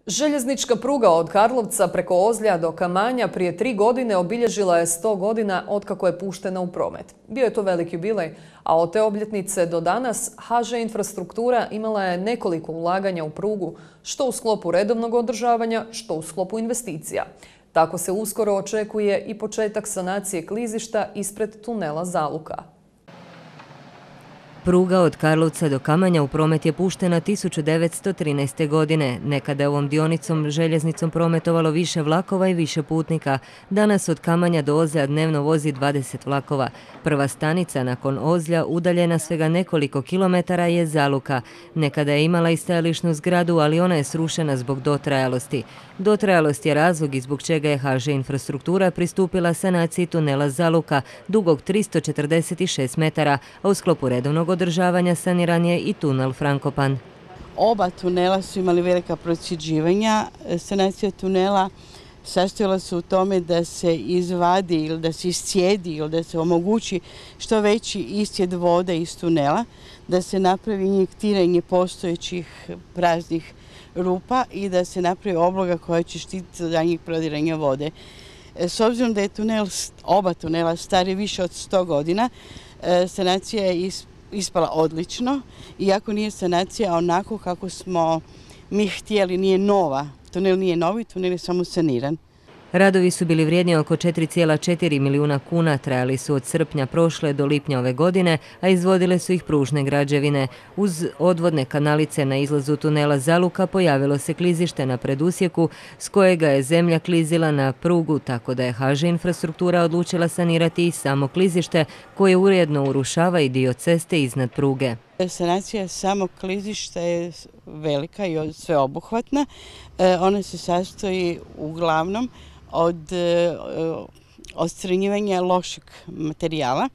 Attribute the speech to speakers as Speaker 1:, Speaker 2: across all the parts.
Speaker 1: Željeznička pruga od Karlovca preko Ozlja do Kamanja prije 3 godine obilježila je 100 godina otkako je puštena u promet. Bio je to veliki jubilej, a od te obljetnice do danas HŽ Infrastruktura imala je nekoliko ulaganja u prugu, što u sklopu redovnog održavanja, što u sklopu investicija. Tako se uskoro očekuje i početak sanacije klizišta ispred tunela Zaluka.
Speaker 2: Pruga od Karlovca do Kamanja u promet je puštena 1913. godine. Nekada je ovom dionicom željeznicom prometovalo više vlakova i više putnika. Danas od Kamanja do Ozlja dnevno vozi 20 vlakova. Prva stanica nakon Ozlja, udaljena svega nekoliko kilometara, je Zaluka. Nekada je imala i stajališnu zgradu, ali ona je srušena zbog dotrajalosti. Dotrajalost je razlog i zbog čega je HŽ Infrastruktura pristupila sanaciji tunela Zaluka, dugog 346 metara, a u sklopu redovnog održavanja saniran je i tunel Frankopan.
Speaker 3: Oba tunela su imali velika procjeđivanja. Sanacija tunela sastojala se u tome da se izvadi ili da se iscijedi ili da se omogući što veći iscijed vode iz tunela, da se napravi injektiranje postojećih praznih rupa i da se napravi obloga koja će štititi od daljnjeg prodiranja vode. S obzirom da je oba tunela stari više od 100 godina, sanacija je ispala odlično, iako nije sanacija onako kako smo mi htjeli, nije nova. Tunel nije novi, tunel je samo saniran.
Speaker 2: Radovi su bili vrijedni oko 4,4 milijuna kuna, trajali su od srpnja prošle do lipnja ove godine, a izvodile su ih pružne građevine. Uz odvodne kanalice na izlazu tunela Zaluka pojavilo se klizište na predusjeku s kojega je zemlja klizila na prugu, tako da je HŽ Infrastruktura odlučila sanirati i samo klizište koje uredno urušava i dio ceste iznad pruge.
Speaker 3: Sanacija samog klizišta je velika i sveobuhvatna. Ona se sastoji uglavnom od odstranjivanja lošeg materijala,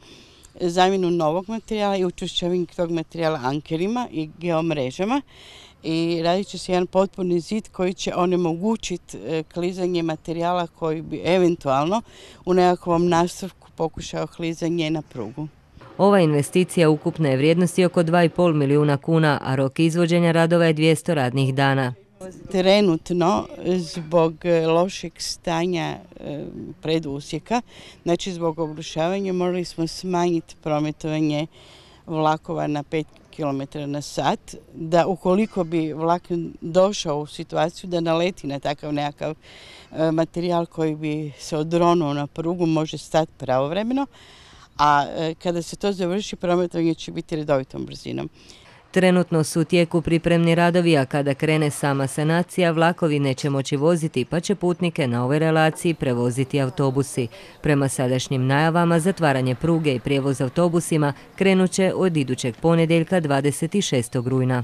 Speaker 3: zamjenu novog materijala i učvršćavanje tog materijala ankerima i geomrežama. I radit će se jedan potpuni zid koji će onemogućiti klizanje materijala koji bi eventualno u nekakvom nastavku pokušao klizanje na prugu.
Speaker 2: Ova investicija ukupne je vrijednosti oko 2,5 milijuna kuna, a rok izvođenja radova je 200 radnih dana.
Speaker 3: Trenutno, zbog lošeg stanja predusjeka, znači zbog obrušavanja, morali smo smanjiti prometovanje vlakova na 5 km na sat, da ukoliko bi vlak došao u situaciju da naleti na takav nekakav materijal koji bi se odronuo na prugu, može stati pravovremeno, a kada se to završi, prometovanje će biti redovitom brzinom.
Speaker 2: Trenutno su u tijeku pripremni radovi, a kada krene sama sanacija, vlakovi neće moći voziti, pa će putnike na ovoj relaciji prevoziti autobusi. Prema sadašnjim najavama, zatvaranje pruge i prijevoz autobusima krenut će od idućeg ponedjeljka 26. rujna.